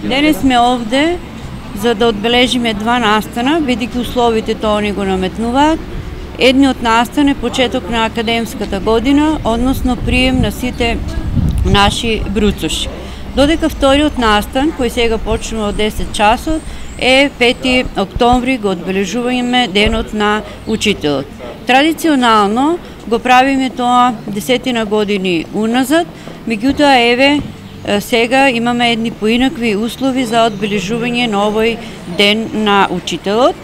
Денес сме овде за да одбележиме два настана, бидејќи условите тоа ни го наметнуваат. Едниот настан е почеток на академската година, односно прием на сите наши бруцуши. Додека вториот настан, кој сега почнува од 10 часот, е 5 октомври, го одбележуваме денот на учителот. Традиционално го правиме тоа 10 години уназад, меѓутоа еве сега имаме едни поинакви услови за одбележување на овој ден на учителот.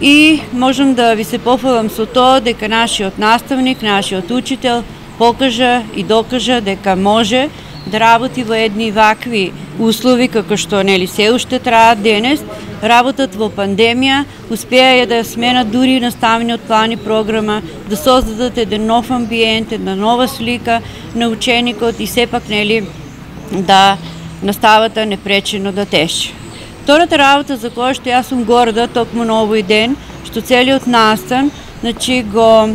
И можам да ви се пофалам со тоа дека нашиот наставник, нашиот учител покажа и докажа дека може да работи во едни вакви услови како што нели се уште траат денес. Работат во пандемија, успеа да сменат дури наставниот план и програма, да создадат еден нов амбиент, една нова слика на ученикот и сепак нели да наставата непречено да тече. Втората работа за која што јас сум горда токму на овој ден, што целиот настан, го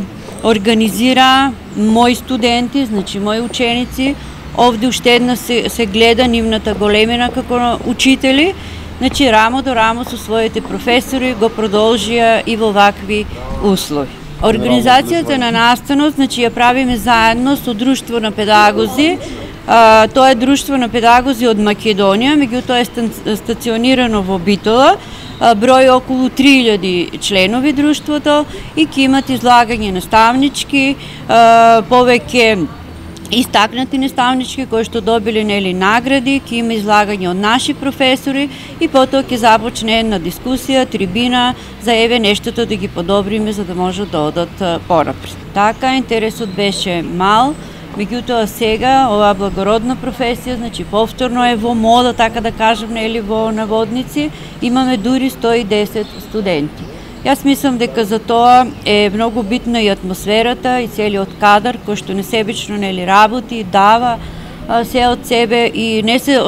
организира мои студенти, мои ученици. Овде уште една се гледа нивната големина како учители, рамо до рамо со своите професори го продолжија и во вакви услови. Организацијата на настанот, ја правиме заедно со Друштво на педагози. Тоа е Друштво на педагози од Македонија, меѓутоа е стационирано во Битола, број околу 3000 членови друштвото и ќе имат излагање наставнички, повеќе истакнати наставнички кои што добиле награди, ќе има излагање од наши професори и потоа ќе започне една дискусија, трибина за еве нештото да ги подобриме за да можат да одат понапред. Така интересот беше мал. Меѓутоа сега оваа благородна професија, повторно е во мода, така да кажем, во наводници, имаме дури 110 студенти. Јас мислам дека за тоа е многу битна и атмосферата и целиот кадар кој што несебично работи, дава се од себе и не се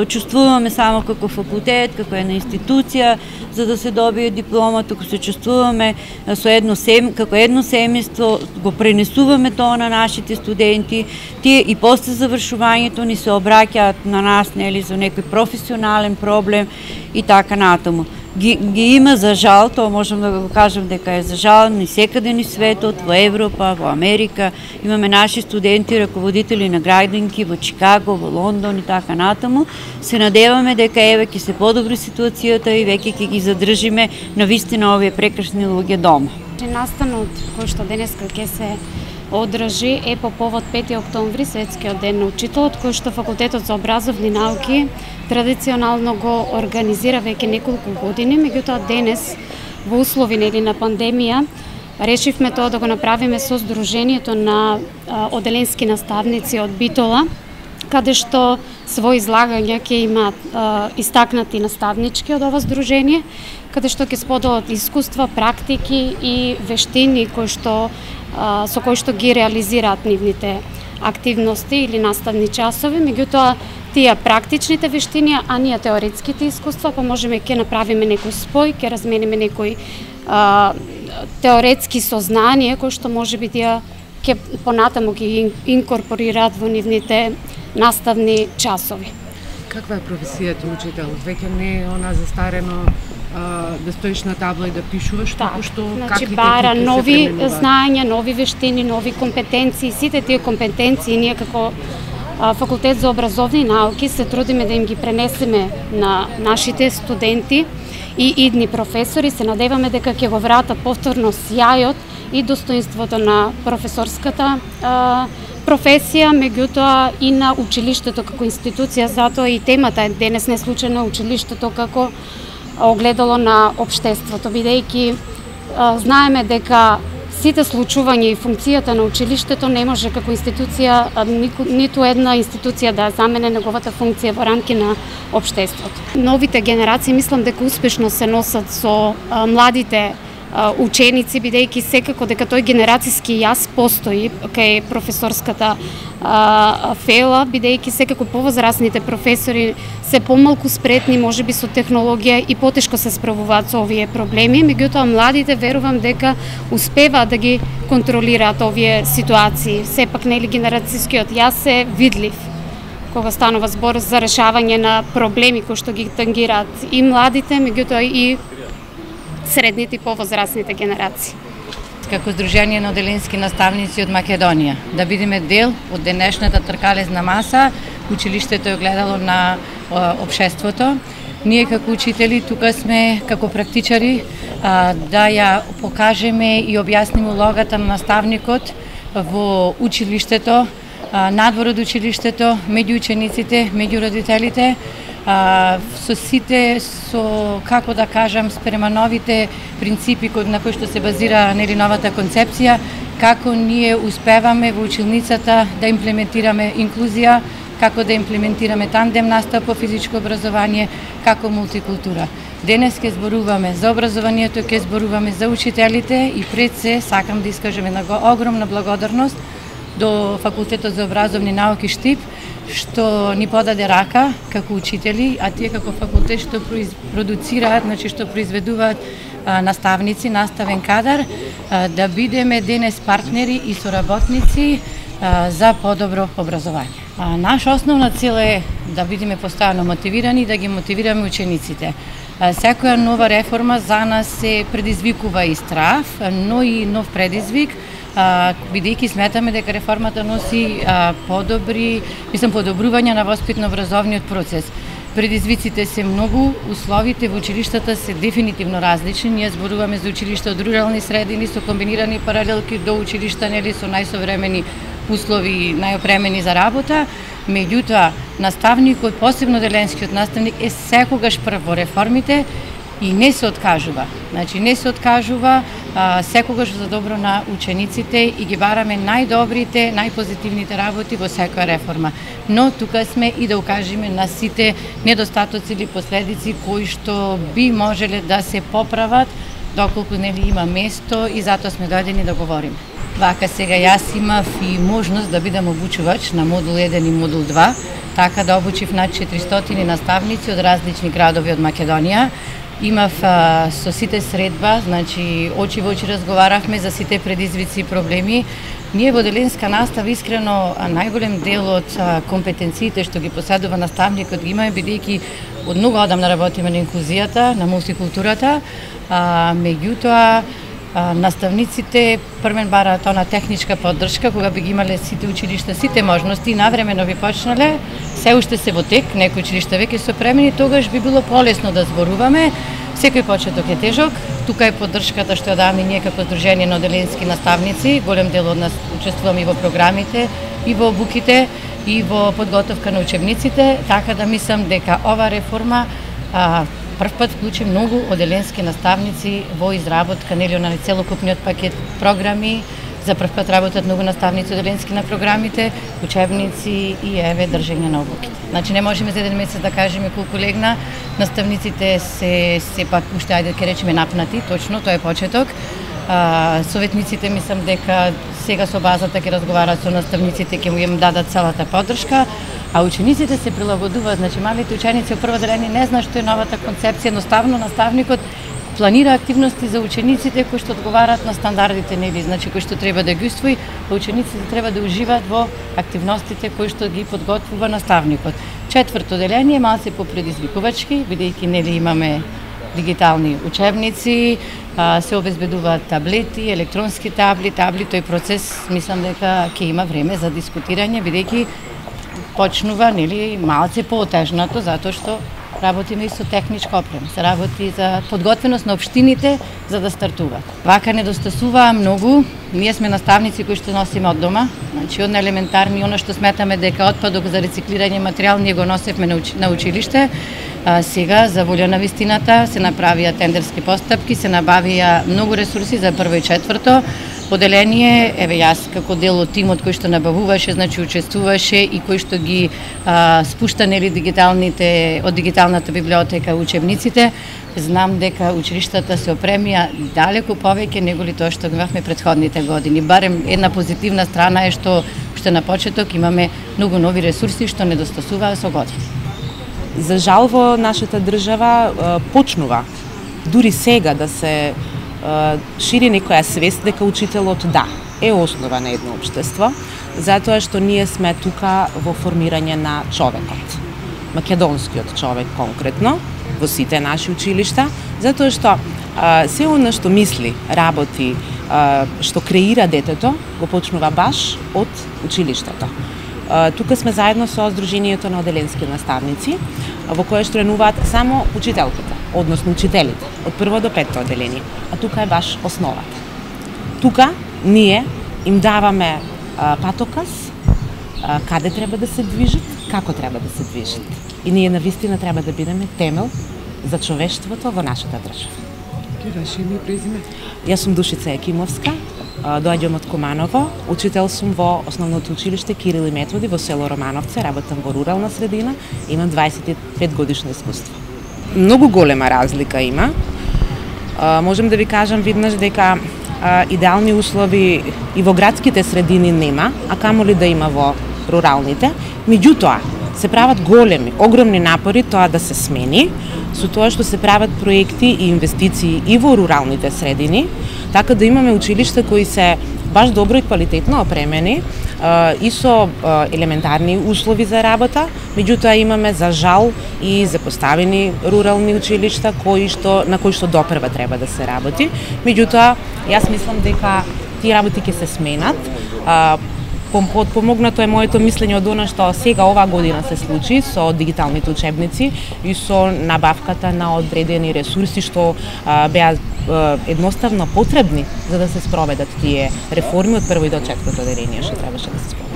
чувствуваме само како факултет, како една институција за да се добие диплома, туку се чувствуваме како едно семејство, го пренесуваме тоа на нашите студенти, тие и после завршувањето ни се обраќаат на нас за некој професионален проблем и така натаму. Ги има за жал, тоа можам да го кажам дека е за жал ни секаде ни светот, во Европа, во Америка, имаме наши студенти, раководители на градинки во Чикаго, во Лондон и така натаму. Се надеваме дека еве ќе се подобри ситуацијата и веќе ќе ги задржиме на вистина овие прекрасни луѓе дома. Настанот кој што денеска ќе се одржи е по повод 5 октомври, светскиот ден на учителот, кој што Факултетот за образовни науки традиционално го организира веќе неколку години, меѓутоа денес во услови на пандемија решивме тоа да го направиме со Сдруженијето на оделенски наставници од Битола, каде што свој излагања ќе имаат истакнати наставнички од ова здружение, каде што ќе споделат искуства, практики и вештини со кои што ги реализираат нивните активности или наставни часови, меѓутоа тие практичните вештини, а ние теоретските искуства, па можеме ќе направиме некој спој, ќе размениме некои теоретски сознанија кои што можеби тие ќе понатаму ги инкорпорираат во нивните наставни часови. Каква е професијата учител? Веќе не е она застарено да стоиш на табла и да пишуваш, туку што бара нови знаења, нови вештини, нови компетенции. Сите тие компетенции ние како Факултет за образовни науки се трудиме да им ги пренесеме на нашите студенти и идни професори. Се надеваме дека ќе го вратат повторно сјајот и достоинството на професорската професија, меѓутоа и на училиштето како институција. Затоа и темата е денес не случајно училиштето како огледало на општеството, бидејќи знаеме дека сите случувања и функцијата на училиштето не може како институција, ниту една институција да замене неговата функција во рамки на општеството. Новите генерации мислам дека успешно се носат со младите ученици, бидејќи секако дека тој генерацијски јас постои кај професорската фела, бидејќи секако повозрасните професори се помалку спретни, можеби со технологија и потешко се справуваат со овие проблеми, меѓутоа младите верувам дека успеваат да ги контролираат овие ситуации. Сепак генерацијскиот јас е видлив кога станува збор за решавање на проблеми кои што ги тангираат и младите, меѓутоа и средните и повозрастните генерации. Како Сдружение на оделенски наставници од Македонија, да бидеме дел од денешната тркалезна маса, училиштето е гледало на општеството. Ние како учители тука сме како практичари да ја покажеме и објасниме улогата на наставникот во училиштето, надвор од училиштето, меѓу учениците, меѓу родителите, со сите, како да кажам, спрема новите принципи на кои што се базира новата концепција, како ние успеваме во училницата да имплементираме инклузија, како да имплементираме тандем настава по физичко образование, како мултикултура. Денес ќе зборуваме за образованието, ќе зборуваме за учителите и пред се сакам да искажам една огромна благодарност до Факултетот за образовни науки Штип, што ни подаде рака како учители, а тие како факултет што продуцираат, значи што произведуваат наставници, наставен кадар, да бидеме денес партнери и соработници за подобро образование. Наша основна цел е да бидеме постојано мотивирани, да ги мотивираме учениците. Секоја нова реформа за нас се предизвикува и страв, но и нов предизвик, бидејќи сметаме дека реформата носи подобрување на воспитно-образовниот процес. Предизвиците се многу, условите во училиштата се дефинитивно различни. Ние зборуваме за училишта од рурални средини со комбинирани паралелки до училишта со најсовремени услови, најопремени за работа. Меѓутоа, наставникот, посебно оделенскиот наставник, е секогаш прв во реформите и не се откажува. Значи, не се откажува секогаш за добро на учениците и ги бараме најдобрите, најпозитивните работи во секоја реформа. Но тука сме и да укажеме на сите недостатоци или последици кои што би можеле да се поправат доколку има место и затоа сме дојдени да говориме. Вака сега јас имав и можност да бидам обучувач на модул 1 и модул 2, така да обучив над 400 наставници од различни градови од Македонија. Имав со сите средба, значи очи во очи разговаравме за сите предизвици и проблеми. Ние во оделенска настава искрено најголем дел од компетенциите што ги поседува наставникот ги имаме, бидејќи од многу одамна работиме на инклузијата, на мултикултурата, меѓутоа наставниците првен бараат она техничка поддршка, кога би ги имале сите училишта, сите можности, навремено би почнале, се уште се во тек, некои училишта веќе се опремени, тогаш би било полесно да зборуваме. Секој почеток е тежок, тука е поддршката што ја даваме ние како Сдружение на оделенски наставници, голем дел од нас учествуваме и во програмите, и во обуките, и во подготовка на учебниците, така да мислам дека ова реформа прв пат вклучи многу оделенски наставници во изработка на целокупниот пакет програми. За прв пат работат многу наставници оделенски на програмите, учебници и држење на обуките. Значи не можеме за еден месец да кажеме колку легна, наставниците се пак уште ајде ќе речеме напнати, точно тоа е почеток. Советниците мислам дека сега со базата ќе разговараат со наставниците, ќе му им дадат целата поддршка, а учениците се прилагодуваат, значи малите ученици од прво деление не знаат што е новата концепција, едноставно наставникот планира активности за учениците кои што одговараат на стандардите, значи кои што треба да ги усвои, а учениците треба да уживаат во активностите кои што ги подготвува наставникот. Четврто деление малце попредизвикувачки, бидејќи имаме дигитални учебници, се обезбедуваат таблети, електронски табли, тој процес мислам дека ќе има време за дискутирање, бидејќи почнува малце поотежнато, затоа што работиме и со техничка опрема, се работи за подготвеност на општините за да стартуваат. Вака недостасува многу, ние сме наставници кои што носиме од дома, значи од елементарни, она што сметаме дека отпадок за рециклирање материјал, ние го носевме на училиште. Сега, за волја на вистината, се направија тендерски постапки, се набавија многу ресурси за прво и четврто поделение. Еве јас како дел од тимот кој што набавуваше, значи учествуваше и кој што ги спушта дигиталните од дигиталната библиотека учебниците, знам дека училиштата се опремија далеку повеќе неголи тоа што имавме претходните години. Барем една позитивна страна е што уште на почеток имаме многу нови ресурси што недостасуваа со години. За жал во нашата држава почнува дури сега да се шири некоја свест дека учителот е основа на едно општество, затоа што ние сме тука во формирање на човекот. Македонскиот човек конкретно, во сите наши училишта, затоа што се она што мисли, работи, што креира детето, го почнува баш од училиштето. Тука сме заедно со Сдруженијето на оделенски наставници, во кое членуваат само учителките, односно учителите, од прво до петто оделение, а тука е баш основата. Тука ние им даваме патоказ, каде треба да се движат, како треба да се движат. И ние навистина треба да бидеме темел за човештвото во нашата држава. Ке ваше име и презиме? Јас сум Душица Екимовска, доаѓам од Куманово, учител сум во основното училиште Кирил и Методи во село Романовце, работам во рурална средина, имам 25 годишно искуство. Многу голема разлика има. Можем да ви кажам виднаш дека идеални услови и во градските средини нема, а камоли да има во руралните. Меѓутоа, се прават огромни напори тоа да се смени, со тоа што се прават проекти и инвестиции и во руралните средини, така да имаме училишта кои се баш добро и квалитетно опремени и со елементарни услови за работа, меѓутоа имаме за жал и запоставени рурални училишта на кои што допрва треба да се работи. Меѓутоа, јас мислам дека тие работи ќе се сменат. Помогнато е моето мислење од она што сега оваа година се случи со дигиталните учебници и со набавката на одредени ресурси што беа едноставно потребни за да се спроведат тие реформи од прво и до четврто оделение што требаше да се спроведат.